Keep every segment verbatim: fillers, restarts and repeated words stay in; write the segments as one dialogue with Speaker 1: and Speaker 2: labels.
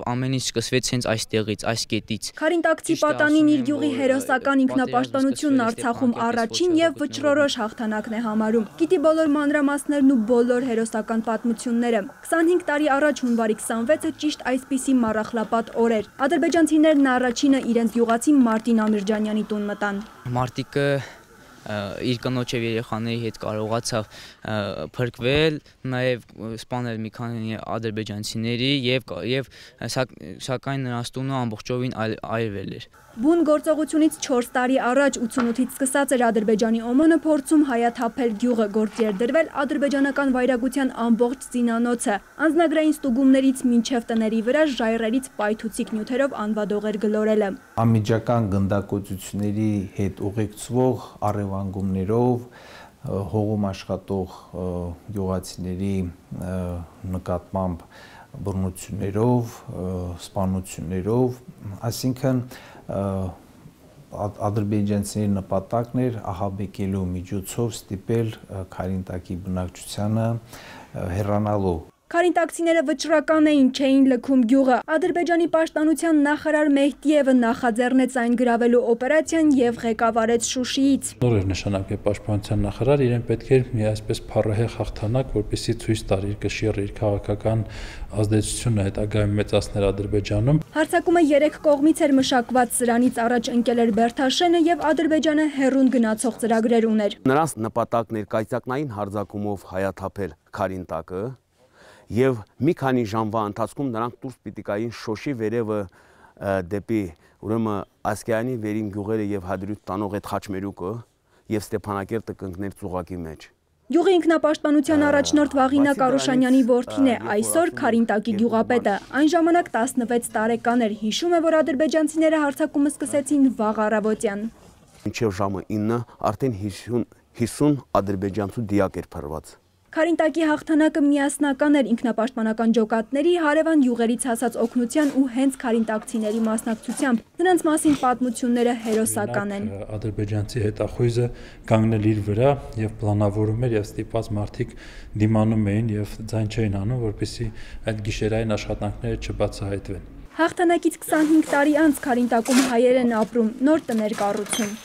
Speaker 1: Ամեն ինչ սկսվեց հենց այստեղից, այս կետից։
Speaker 2: Քարինտակցի պատանին իր յուղի հերոսական ինքնապաշտպանությունն Արցախում առաջին եւ վճռորոշ հաղթանակն է համարում։ Գիտի բոլոր մանրամասներն ու բոլոր հերոսական պատմությունները։ քսանհինգ տարի առաջ հունվարի քսանվեցը ճիշտ այսպիսի մառախլապատ օր էր։ Ադրբեջանցիներն առաջինը իրենց յուղացի Մարտին Ամիրջանյանի տուն մտան։
Speaker 1: Մարտիկը իր կնոջ եւ երեխաների հետ կարողացավ փրկվել, նաեւ սպանել մի քանի ադրբեջանցիների եւ եւ սակայն նրանց տունը ամբողջովին այրվել էր։
Speaker 2: Բուն գործողությունից չորս տարի առաջ ութսունութից սկսած էր Ադրբեջանի Օմանը փորձում հայաթափել գյուղը, գործի էր դրվել ադրբեջանական վայրագության ամբողջ զինանոցը, անձնագրային ստուգումներից մինչև տների վրա ժայռերից պայթուցիկ նյութերով անվադող էր գլորելը։
Speaker 3: Անմիջական գնդակոծությունների հետ ուղեկցվող առևանգումներով հողում աշխատող գյուղացիների նկատմամբ բռնություններով, սպանություններով, այսինքն ադրբեջանցիների նպատակն էր ահաբեկելու միջոցով ստիպել Քարինտակի բնակչությանը հեռանալու։
Speaker 2: Քարինտակցիները վճռական էին, չէին լքում գյուղը։ Ադրբեջանի պաշտպանության նախարար Մեհդիևը նախաձեռնեց այն գրավելու օպերացիան եւ ղեկավարեց Շուշիից։
Speaker 4: Նոր էր նշանակվել պաշտպանության նախարար, իրեն պետք էր մի այսպես փառահեղ հաղթանակ, որպեսզի ցույց տար իր կշիռը, իր քաղաքական ազդեցությունը հետագայում մեծացներ Ադրբեջանում։
Speaker 2: Հարձակումը երեք կողմից էր մշակված, սրանից առաջ ընկել էր Բերթաշենը եւ Ադրբեջանը հերուն գնացող ծրագրեր ուներ։
Speaker 5: Նրանց նպատակն էր կայծակնային հարձակումով հայաթափել Քարինտակը։ Եվ մի քանի ժամվա ընթացքում նրանք դուրս պիտի գային Շոշի վերևը դեպի ուրեմն Ասկայանի վերին գյուղերը եւ Հադրութ տանող այդ խաչմերուկը եւ Ստեփանակերտը կընկներ ծուղակի մեջ։
Speaker 2: Գյուղի ինքնապաշտպանության առաջնորդ Վաղինակ Արուշանյանի որդին է, այսօր Քարինտակի գյուղապետը։ Այն ժամանակ տասնվեց տարեկան էր, հիշում է, որ ադրբեջանցիները հարձակումը սկսեցին վաղ առավոտյան։
Speaker 5: Մինչև ժամը ինը արդեն հիսուն ադրբեջանցու դիակ էր փրված։
Speaker 2: Քարինտակի հաղթանակը միասնական էր ինքնապաշտպանական ջոկատների, հարևան յուղերից հասած օգնության ու հենց քարինտակցիների մասնակցությամբ։ Նրանց մասին պատմությունները հերոսական են։
Speaker 4: Ադրբեջանցի հետախույզը կանգնել իր վրա եւ պլանավորում էր եւ ստիպված մարդիկ դիմանում էին եւ ձայն չէին անում, որպեսզի այդ գիշերային աշխատանքները չբացահայտվեն։
Speaker 2: Հաղթանակից քսանհինգ տարի անց Քարինտակում հայեր են ապրում, նոր տներ կառուցում։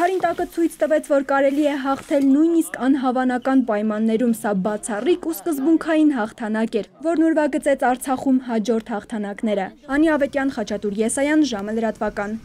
Speaker 2: Քարինտակը ցույց տվեց, որ կարելի է հաղթել նույնիսկ անհավանական պայմաններում, սա բացառիկ ու սկզբունքային հաղթանակ էր, որն ուրվագծեց Արցախում հաջորդ հաղթանակները։ Անի Ավետյան, Խաչատուր Եսայան, ժամը լրատվական։